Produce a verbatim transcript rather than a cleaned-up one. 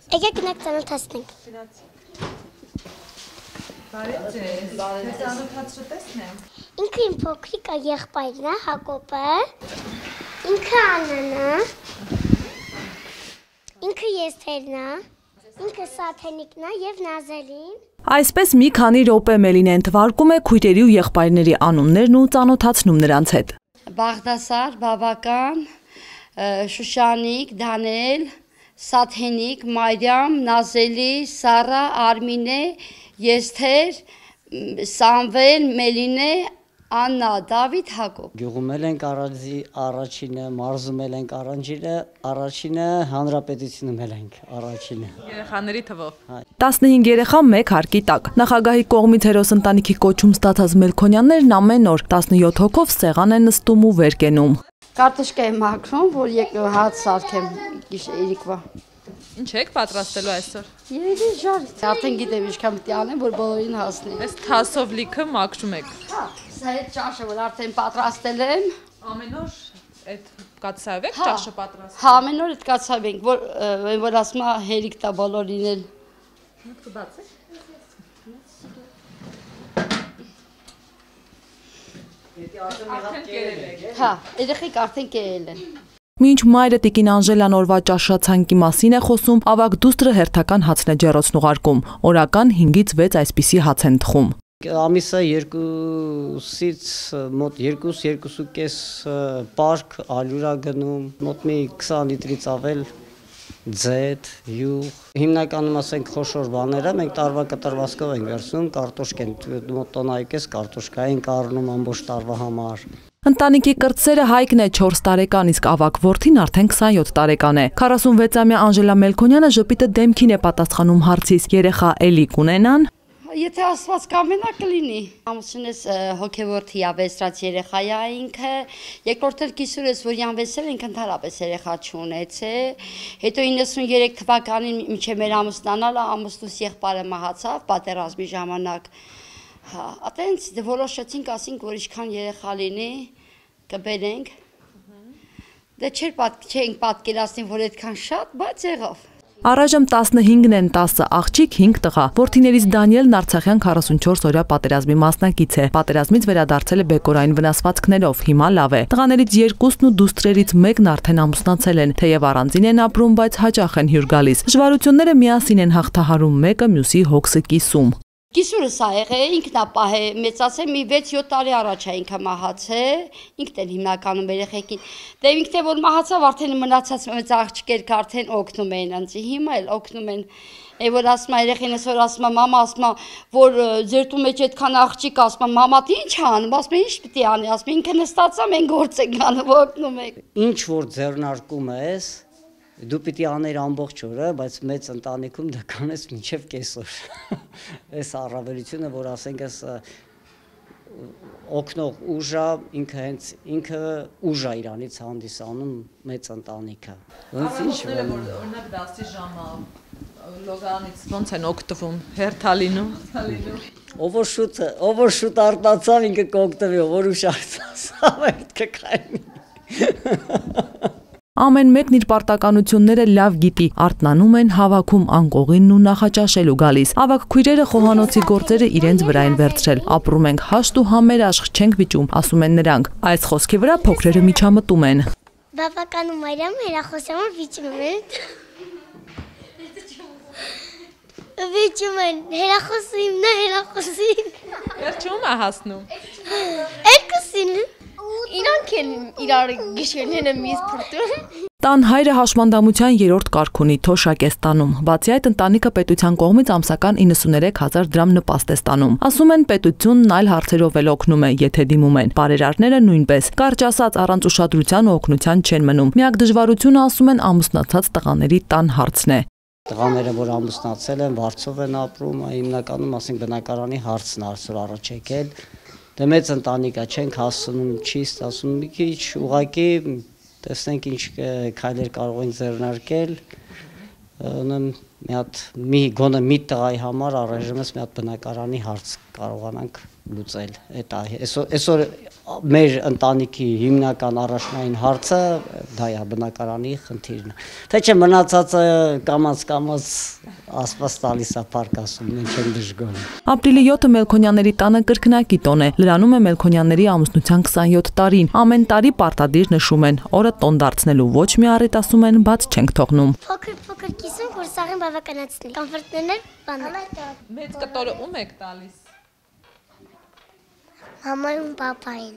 Եկեք գնանք ծանոթացնենք։ Բարև ձեզ, ձեզ ծանոթացրու տեսնեմ։ Ինքը իմ փոքրիկ եղբայրն է, Հակոբը, ինքը Աննան է, ինքը Եստերն է, ինքը Սաթենիկն է և Նազելին։ Այսպես մի քանի րոպե Մելինեն թվարկում է քույրերի ու եղբայրների անուններն ու ծանոթացնում նրանց հետ։ Բաղդասար, Բաբական, Շուշանիկ, Դանիել, Սաթենիկ, Մարիամ, Նազելի, Սարա, Արմինե, Եստեր, Սամվել, Մելինե, Աննա, Դավիթ, Հակոբ։ Գյուղում ենք առաջինը, մարզում ենք առաջինը, առաջինը հանրապետությունում ենք առաջինը։ Երեխաների թվով։ տասնհինգ երեխա մեկ հարկի տակ։ Նախագահի կողմից հերոս ընտանիքի կոչում ստացած Մելքոնյաններն ամեն օր տասնյոթ հոգով սեղան են նստում ու վեր կենում։ Կարտոշկա եմ հագնում, որ եկա հաց սարքեմ գիշերիկվա։ Ինչ եք պատրաստելու այսօր։ Երևի ժար։ Արդեն գիտեմ ինչքան պետք է անեմ, որ բոլորին հասնի։ Այս թասով լիքը մաքրում եք։ Հա, սա այդ ճաշը, որ արդեն պատրաստել եմ։ Ամեն օր այդ կացավ եք ճաշը պատրաստել։ Հա, ամեն օր այդ կացավ ենք, որ որ ասում է հերիք տա բոլորին էլ։ Մուտքը բացեք։ Արդեն կերել եք։ Հա, երեխեք արդեն կերել են։ Մինչ մայրը տիկին Անժելան օրվա ճաշացանկի մասին է խոսում, ավագ դուստրը հերթական հացն է ջեռոցն ուղարկում։ Օրական հինգից վեց այսպիսի հաց են թխում։ Ամիսը երկուսից մոտ երկուս, երկուս ու կես պարկ ալյուրա գնում, մոտ մի քսան լիտրից ավել ձետ, յուղ։ Հիմնականում ասենք խոշոր բաները մենք տարվա կտրվածքով ենք վերցնում, կարտոշք են, մոտ տոննայի կես կարտոշկա ենք առնում ամբողջ տարվա համար։ Ընտանիքի կրտսերը Հայկն է չորս տարեկան, իսկ ավագ որդին արդեն քսանյոթ տարեկան է։ քառասունվեցամյա Անժելա Մելքոնյանը ժպիտը դեմքին է պատասխանում հարցից՝ երեխա էլի կունենան։ Եթե ասված կամենա կլինի։ Ամուսինս հոգևոր թիավեսրած երեխա է ինքը, երկրորդ էլ կիսուրս, որ յանվեսել ինքը ընդհանրապես երեխա չունեցե։ Հետո իննսուններեք թվականին մինչև մեր ամուսնանալը ամուսնուս եղբայրը մահացավ պատերազմի ժամանակ։ Հա, այտենց որոշեցինք, ասինք, որ ինչքան երեխա լինի, կբերենք։ Դե չէր չենք պատկերացնի, որ այդքան շատ, բայց եղավ։ Առայժմ տասնհինգն են, տասը աղջիկ, հինգ տղա։ Որդիներից Դանիելն Արցախյան քառասունչորս օրյա պատերազմի մասնակից է։ Պատերազմից վերադարձել է բեկորային վնասվածքներով, հիմա լավ է։ Տղաներից երկուսն ու դուստրերից մեկն արդեն ամուսնացել են, թեև առանձին են ապրում, բայց հաճախ են հյուր գալիս։ Դժվարությունները միասին են հաղթահարում, մեկը մյուսի հոգսը կիսում։ Կիսուրս ա եղել, ինքն ա պահե մեծացել, մի վեց-յոթ տարի առաջ ա ինքը մահացել, ինքն էլ հիմնականում երեխեքին։ Դե ինքն է որ մահացավ, արդեն մնացած մեծ աղջիկերք արդեն օգնում են ինձ, հիմա էլ օգնում են։ Է որ ասում ա երեխինս որ ասում ա մամա ասում ա որ ձեր տու մեջ այդքան աղջիկ ասում ա մամա դի ինչ անում, ասում ա ինչ պիտի անի, ասում ինքը նստած ա մենք գործ ենք անում, օգնում ենք։ Ինչ որ ձեռնարկում ես դու պիտի աներ ամբողջ օրը, բայց մեծ ընտանիքում դա կանես մինչև կեսօր։ Այս առավելությունը, որ ասենք ես օգնող ուժա, ինքը հենց ինքը ուժա իրանից հանդիսանում մեծ ընտանիքը։ Ոնց ինչ որ օրինակ դասի ժամը լոգանից ոնց են օգտվում, հերթալինում, ով որ շուտ, ով որ շուտ արտացավ ինքը կօգտվի, ով որ ուշ արտացավ, այդ կկայնի։ Ամեն մեկն իր պարտականությունները լավ գիտի, արթնանում են, հավաքում անկողինն ու նախաճաշելու գալիս։ Ավագ քույրերը խոհանոցի գործերը իրենց վրա են վերցրել։ Ապրում ենք հաշտ ու համերաշխ, չենք վիճում, ասում են նրանք։ Այս խոսքի վրա փոքրերը միջամտում են։ Բավականու Մարիամ հերախոսամը վիճում են։ Վիճում են, հերախոսը իմն է, հերախոսին։ Վերջում ա հասնում։ Երկուսին։ Իրանք են իրար գիշերները միզ փրտում։ Տան հայրը հաշմանդամության երրորդ կարգ ունի, թոշակ է ստանում։ Բացի այդ, ընտանիքը պետության կողմից ամսական իննսուններեք հազար դրամ նպաստ է ստանում։ Ասում են պետությունն այլ հարցերով էլ օգնում է, եթե դիմում են։ Բարերարները նույնպես։ Կարճ ասած, առանց ուշադրության ու օգնության չեն մնում։ Միակ դժվարությունը, ասում են, ամուսնացած տղաների տան հարցն է։ Տղաները, որ ամուսնացել են, վարձով են ապրում, հիմնականում ասենք բնակարանի հարցն այսօր առաջ եկել։ Դե մեծ ընտանիք է, չենք հասնում, չի ստացվում, մի քիչ ուղղակի տեսնենք ինչ քայլեր կարող են ձեռնարկել, մի հատ մի գոնե մի տղայի համար առայժմս մի հատ բնակարանի հարց կարողանանք լուծել, այդ է, այսօր մեր ընտանիքի հիմնական առաջնային հարցը դա է բնակարանի խնդիրն է։ Թե չէ մնացածը կամած կամած ասված տալիս է փառք ասում, մենք չենք դժգոհ։ Ապրիլի յոթը Մելքոնյանների տանը կրկնակի տոն է։ Լրանում է Մելքոնյանների ամուսնության քսանյոթ տարին։ Ամեն տարի պարտադիր նշում են, օրը տոն դարձնելու ոչ մի առիթ ասում են, բաց չենք թողնում։ Փոքր-փոքր կիսում, որ սաղին բավականացնի։ Կոնֆետներ, բաներ։ Մեծ կտորը ում եք տալիս։ Մամային, պապային։